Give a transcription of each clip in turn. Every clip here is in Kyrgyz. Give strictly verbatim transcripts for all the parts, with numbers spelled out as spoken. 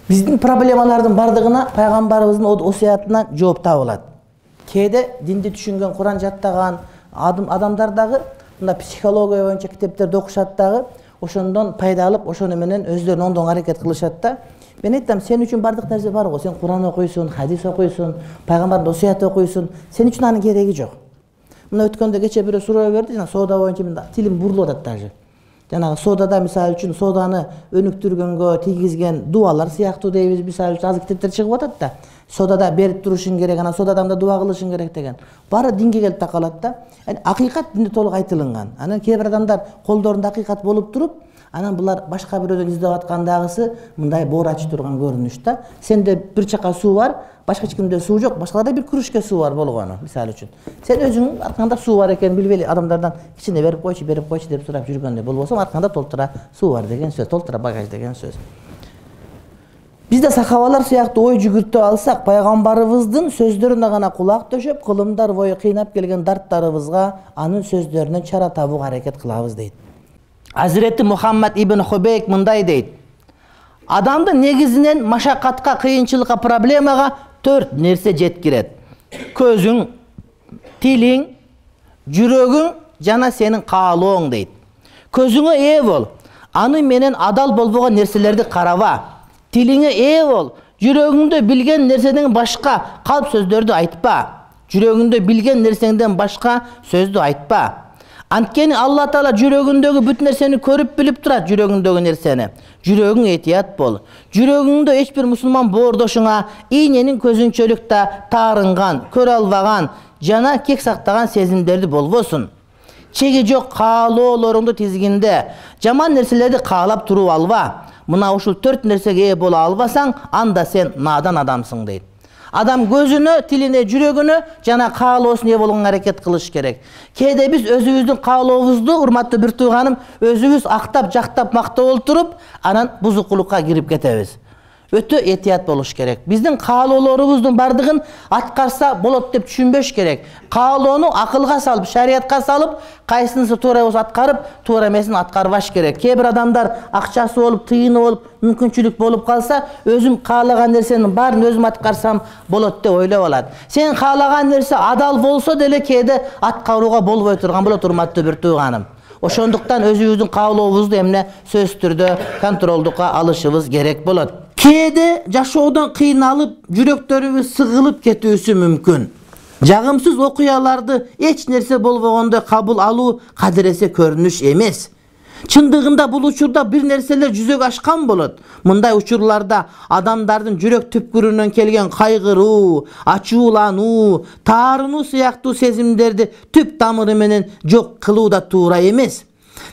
Биздин проблемалардын бардыгына пайгамбарыбыздын осуятынан жооп табылат. Кээде динди түшүнгөн, Куран жаттаган адамдар дагы мына психология боюнча китептерди окушат дагы, ошондон пайда алып, ошону менен өздөрүн оңдоого аракет кылышат да. Мен айтам, сен үчүн бардык нерсе бар го. Сен Куран окуйсуң, хадис окуйсуң, пайгамбардын осуятын окуйсуң. Сен үчүн анын кереги жок. Мына өткөндө кече бирөө суроо берди, жана соода боюнча мен тилим бурулуп атат даже. Жанагы соодада мисалы үчүн сооданы өнүктүргөнгө тийгизген дуалар сыяктуу дейбиз, мисалы үчүн азыр китептер чыгып атат да. Соодада берип турушуң керек, анан соодадан да дуа кылышың керек деген. Баары динге келип такалат да. Акыйкат динде толук айтылган. Анан кээ бир адамдар колдорунда акыйкат болуп туруп, анан булар башка бирөөдөн издеп аткандагысы мындай боор ачып турган көрүнүш да. Сенде бир чака суу бар, башка эч кимде суу жок, башкаларда бир кружка суу бар болгону, мисалы үчүн. Сен өзүң аркаңда суу бар экенин билбейли, адамдардан кичине берип койчу, берип койчу деп сурап жүргөндө болбосо, аркаңда толтура суу бар деген сөз, толтура багаж деген сөз. Бизде сахабалар сыяктуу ой жүгүртүп алсак, пайгамбарыбыздын сөздөрүнө гана кулак төшөп, кылымдар бою кыйнап келген дарттарыбызга анын сөздөрүнөн чара табууга аракет кылабыз дейт. Азирети Мухаммад ибн Хубейк мындай дейт: адамды негизинен машакатка, кыйынчылыкка, проблемага төрт нерсе жеткирет. Көзүң, тилиң, жүрөгүң жана сенин каалооң дейт. Көзүңө ээ бол, аны менен адал болбогон нерселерди караба. Тилиңе ээ бол, жүрөгүңдө билген нерседен башка калп сөздөрдү айтпа. Жүрөгүңдө билген нерсеңден башка сөздү айтпа. Анткени Алла Таала жүрөгүндөгү бүт нерсени көрүп билип турат, жүрөгүндөгү нерсени. Жүрөгүң этият бол. Жүрөгүңдө эч бир мусулман боордошуңа ийненин көзүнчөлүктө таарынган, көрө албаган жана кек сактаган сезимдерди болбосун. Чеги жок каалоолоруңду тизгинде жаман нерселерди каалап туруп алба. Мына ушул төрт нерсеге ээ боло албасаң, анда сен надан адамсың дейт. Адам көзүнө, тилине, жүрөгүнө жана каалоосуна ээ болгонго аракет кылыш керек. Кээде биз өзүбүздүн каалообузду, урматтуу бир тууганым, өзүбүз актап, жактап, мактап олтуруп, анан бузукулукка кирип кетебиз. Өтө этият болуш керек. Биздин каалоолорубуздун бардыгын аткарса болот деп түшүнбөш керек. Каалоону акылга салып, шариятка салып, кайсынысы туура болсо аткарып, туура эмесин аткарбаш керек. Кээ бир адамдар акчасы болуп, тыйыны болуп, мүмкүнчүлүк болуп калса, өзүм каалаган нерсенин баарын өзүм аткарсам болот деп ойлоп алат. Сен каалаган нерсе адал болсо деле кээде аткарууга болбой турган болот, урматтуу бир тууганым. Ошондуктан өзүбүздүн каалообузду эмне сөзсүз түрдө контролдукка алышыбыз керек болот. Кээде жашоодон кыйналып, жүрөктөрүбүз сыгылып кетүүсү мүмкүн. Жагымсыз окуяларды эч нерсе болбогондой кабыл алуу кадыресе көрүнүш эмес. Чындыгында бул учурда бир нерселер жүзөгө ашкан болот. Мындай учурларда адамдардын жүрөк түпкүрүнөн келген кайгыруу, ачуулануу, таарынуу сыяктуу сезимдерди түп тамыры менен жок кылуу да туура эмес.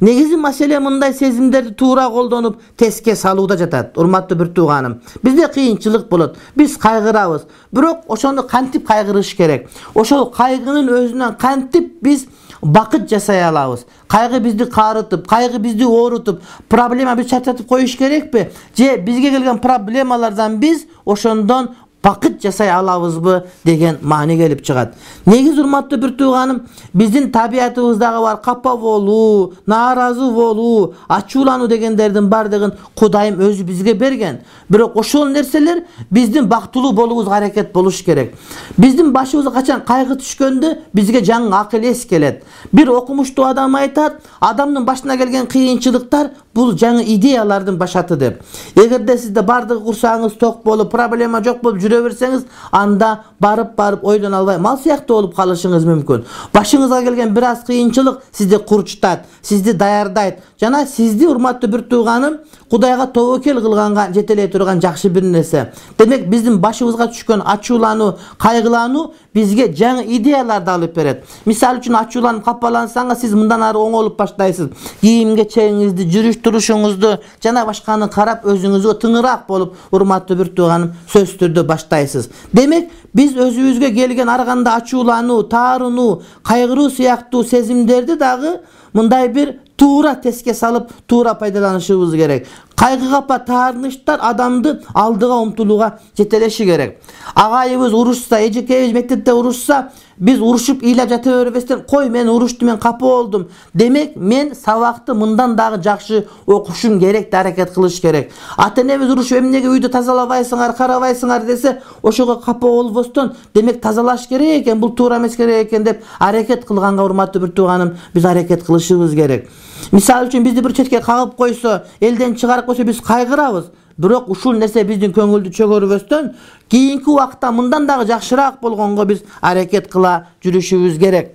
Негизи маселе мындай сезимдерди туура колдонуп, теске салууда жатат. Урматтуу бир тууганым, бизде кыйынчылык болот, биз кайгырабыз. Бирок ошону кантип кайгырыш керек? Ошол кайгынын өзүнөн кантип биз бакыт жасай алабыз? Кайгы бизди каарытып, кайгы бизди оорутуп, проблема бизди чачатып коюш керекпи? Же бизге келген проблемалардан биз ошондон бакыт жасай алабызбы деген маани келип чыгат. Негизи урматтуу бир тууганым, биздин табиятыбыздагы бар капа болуу, нааразы болуу, ачуулануу дегендердин бардыгын Кудайым өзү бизге берген. Бирок ошол нерселер биздин бактылуу болуубузга аракет болуш керек. Биздин башыбызга качан кайгы түшкөндө бизге жаңы акыл эс келет. Бир окумуштуу адам айтат, адамдын башына келген кыйынчылыктар бул жаңы идеялардын башаты деп. Эгерде сизде бардыгы курсагыңыз ток болуп, проблема жок болуп жүрө берсеңиз, анда барып-барып ойлоно албай мал сыяктуу болуп калышыңыз мүмкүн. Башыңызга келген бир аз кыйынчылык сизди курчтат, сизди даярдайт жана сизди урматтуу бир тууганым Кудайга тобокел кылганга жетелей турган жакшы бир нерсе. Демек биздин башыбызга түшкөн ачуулануу, кайгылануу бизге жаңы идеяларды алып берет. Мисалы үчүн ачууланып капалансаңыз, сиз мындан ары оңолуп баштайсыз. Кийимге чегиңизди, жүрүш турушуңузду жана башканы карап өзүңүзгө тыңыраак болуп, урматтуу бир тууганым, сөзсүз түрдө баштайсыз. Демек, биз өзүбүзгө келген ар кандай ачуулануу, таарынуу, кайгыруу сыяктуу сезимдерди дагы мындай бир туура теске салып, туура пайдаланышыбыз керек. Кайгы капа таарыныштар адамды алдыга умтулууга жетелеши керек. Агайыбыз урушса, эжекебиз мектепте урушса, биз урушуп ыйлап жата бербестен, кой мен уруштум, мен капа болдум. Демек мен сабакты мындан дагы жакшы окушум керек деп аракет кылыш керек. Ата-энебиз урушуп эмнеге үйдү тазалабайсыңар, карабайсыңар десе, ошого капа болбостон, демек тазалаш керек экен, бул туура эмес керек экен деп аракет кылганга, урматтуу бир тууганым, биз аракет кылышыбыз керек. Мисалы үчүн бизди бир четке кагып койсо, элден чыгарып койсо биз кайгырабыз. Бирок ушул нерсе биздин көңүлдү чөгөрбөстөн, кийинки убакта мындан дагы жакшыраак болгонго биз аракет кыла жүрүшүбүз керек.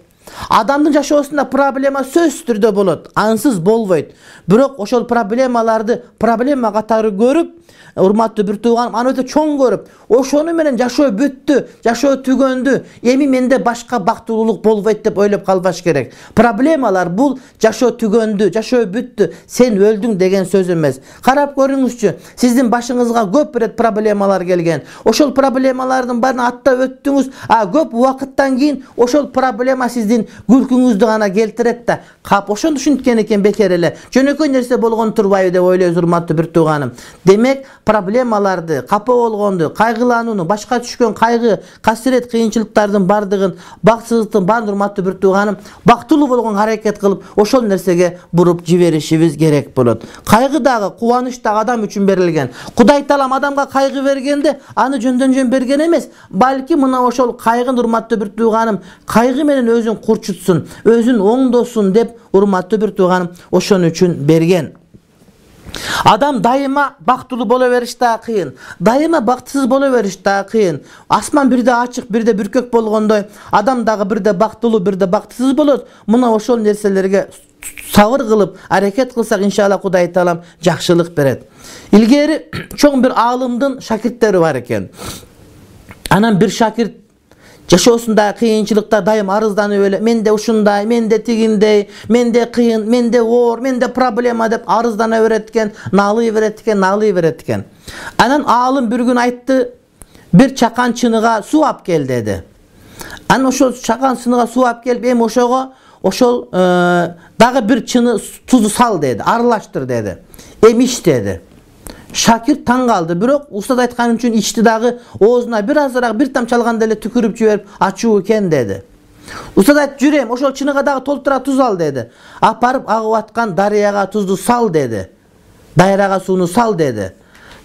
Адамдын жашоосунда проблема сөзсүз түрдө болот, ансыз болбойт. Бирок ошол проблемаларды проблема катары көрүп, урматтуу бир тууганым, аны өтө чоң көрүп, ошону менен жашоо бүттү, жашоо түгөндү, эми менде башка бактылуулук болбойт деп ойлоп калбаш керек. Проблемалар бул жашоо түгөндү, жашоо бүттү, сен өлдүң деген сөз эмес. Карап көрүңүзчү, сиздин башыңызга көп рет проблемалар келген. Ошол проблемалардын баарын аттап өттүңүз, а көп убакыттан кийин ошол проблема сиздин күлкүңүздү гана келтирет да, кап ошону түшүнткөн экен бекер эле. Жөнөкөй нерсе болгон турбайбы деп ойлойбуз, урматтуу бир тууганым. Демек, проблемаларды, капа болгонду, кайгыланууну, башка түшкөн кайгы, касирет, кыйынчылыктардын бардыгын, бакытсыздыктын баарын, урматтуу бир тууганым, бактылуу болгонго аракет кылып, ошол нерсеге буруп жиберишибиз керек болот. Кайгы дагы, кубаныч дагы адам үчүн берилген. Кудай Таалам адамга кайгы бергенде, аны жөндөн жөн берген эмес, балки мына ошол кайгын, урматтуу бир тууганым, кайгы менен өзүн курчутсун, өзүн оңдосун деп, урматтуу бир тууганым, ошон үчүн берген. Адам дайыма бактылуу боло бериш да кыйын, дайыма бактысыз боло бериш да кыйын. Асман бирде ачык, бирде бүркөк болгондой, адам дагы бирде бактылуу, бирде бактысыз болот. Мына ошол нерселерге сабыр кылып, аракет кылсак, иншалла Кудай Таалам жакшылык берет. Илгери чоң бир аалымдын шакирттери бар экен. Анан бир шакирт жашоосунда кыйынчылыкта дайым арызданып эле, менде ушундай, менде тигиндей, менде кыйын, менде оор, менде проблема деп арыздана берет экен, наалый берет экен, наалый берет экен. Анан аалым бир күн айтты, бир чакан чыныга суу алып кел деди. Анан ошол чакан чыныга суу алып келип, эми ошого ошол дагы бир чыны тузду сал деди, аралаштыр деди. Эми ич деди. Шакир таң калды, бирок устат айткан үчүн ичти дагы, оозуна бир азыраак бир тамчы алганда эле түкүрүп жиберип, ачуу экен деди. Устат айтты, жүрөм, ошол чыныга дагы толтура туз ал деди. Апарып агып аткан дарыяга тузду сал деди. Дайрага сууну сал деди.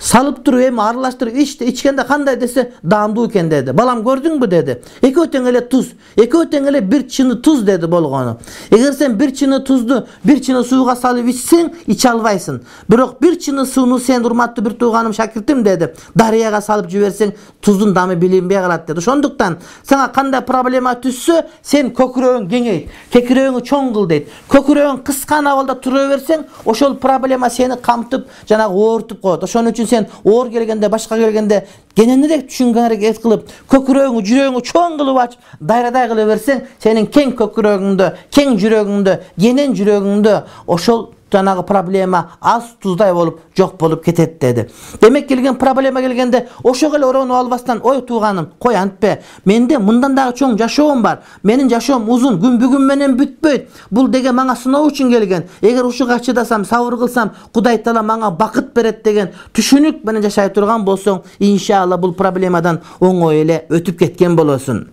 Салып туруп, эми аралаштырып ичти, ичкенде кандай десе, даамдуу экен деди. Балам, көрдүңбү деди. Экөө тең эле туз, экөө тең эле бир чыны туз деди болгону. Эгер сен бир чыны тузду бир чыны сууга салып ичсең, иче албайсың. Бирок бир чыны сууну сен, урматтуу бир тууганым, шакиртим деди, дарыяга салып жиберсең, туздун дамы билинбей калат деди. Ошондуктан сага кандай проблема түшсө, сен көкүрөгүң кеңейт, кекирөөңү чоң кыл дейт. Көкүрөгүң кыскан абалда тура берсең, ошол проблема сени камтып, жанагы оортуп коет. Ошон үчүн сен оор келгенде, башка келгенде кененирээк түшүнгөнгө аракет кылып, көкүрөгүңү, жүрөгүңү чоң кылып ачып, дайрадай кыла берсең, сенин кең көкүрөгүңдө, кең жүрөгүңдө, кенен жүрөгүңдө ошол жанагы проблема аз туздай болуп жок болуп кетет деди. Демек келген проблема келгенде ошого эле оронуп албастан, ой тууганым, кой антпе, менде мындан дагы чоң жашоом бар, менин жашоом узун, күн бүгүн менен бүтпөйт, бул деген мага сыноо үчүн келген, эгер ушуга чыдасам, сабыр кылсам, Кудай Таала мага бакыт берет деген түшүнүк менен жашай турган болсоң, иншалла бул проблемадан оңой эле өтүп кеткен болосуң.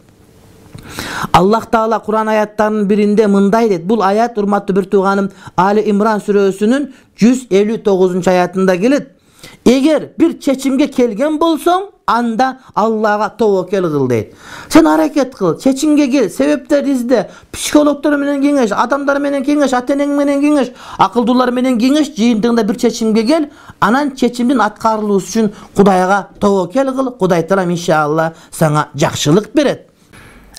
Аллах Таала Куран аяттарынын биринде мындай дейт. Бул аят, урматтуу бир тууганым, Али Имран сүрөсүнүн жүз элүү тогузунчу аятында келет. Эгер бир чечимге келген болсоң, анда Аллага тобокел кыл дейт. Сен аракет кыл, чечимге кел, себептер изде, психологдор менен кеңеш, адамдар менен кеңеш, ата-энең менен кеңеш, акылдуулар менен кеңеш, жыйынтыгында бир чечимге кел, анан чечимдин аткарылуусу үчүн Кудайга тобокел кыл, Кудай Таалам иншалла сага жакшылык берет.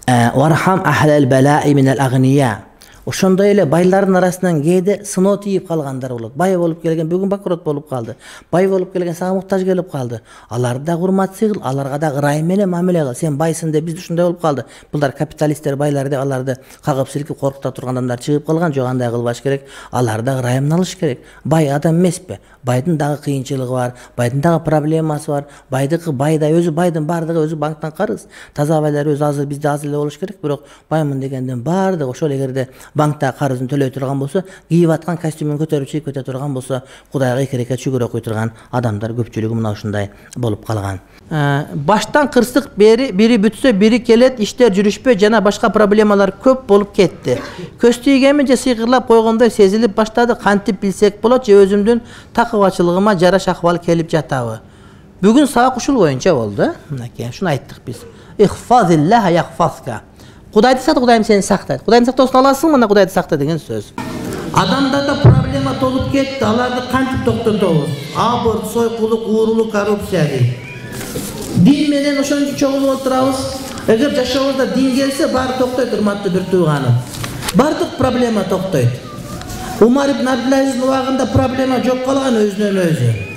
Вархам ахлал балаи минал агния. Ошондой эле байлардын арасынан кээде сыноо тийип калгандар болот. Бай болуп келген бүгүн банкрот болуп калды. Бай болуп келген сага муктаж келип калды. Аларды да урматсый кыл, аларга да ырайым менен мамиле кыл. Сен байсың деп биз ушундай болуп калды. Булдар капиталисттер, байлар деп аларды кагып силкип коркута турган адамдар чыгып калган. Жок, андай кылбаш керек. Аларды да ырайымын алыш керек. Бай адам эмеспи? Байдын дагы кыйынчылыгы бар, байдын дагы проблемасы бар. Байдыкы байда, өзү байдын бардыгы өзү банктан карыз. Таза байлар өзү азыр бизде аз эле болуш керек, бирок баймын дегенден бардыгы ошол эгерде банкта карызын төлөй турган болсо, кийип аткан костюмун көтөрүп чыгып кете турган болсо, Кудайга эки рекет шүгүр окуй турган адамдар көпчүлүгү мына ушундай болуп калган. Баштан кырсык бери бири бүтсө бири келет, иштер жүрүшпөй жана башка проблемалар көп болуп кетти. Көз тийгенми же сыйкырлап койгондой сезилип баштады, кантип билсек болот же өзүмдүн такыбачылыгыма жараша акыбал келип жатабы? Бүгүн сабак ушул боюнча болду. Мынакей, ушуну айттык биз. Ихфазиллаха яхфазка. Кудайды сакта, Кудайым сени сактайт. Кудайдын сактоосун аласың, мына Кудайды сакта деген сөз. Адамдарда проблема толуп кетти, аларды кантип токтотобуз? Аборт, сойкулук, уурулук, коррупция дейт. Дин менен ошончо чогулуп отурабыз. Эгер жашообузда дин келсе, баары токтойт, урматтуу бир тууганым. Бардык проблема токтойт. Умар ибн Абдулазиздин убагында проблема жок калган өзүнөн өзү.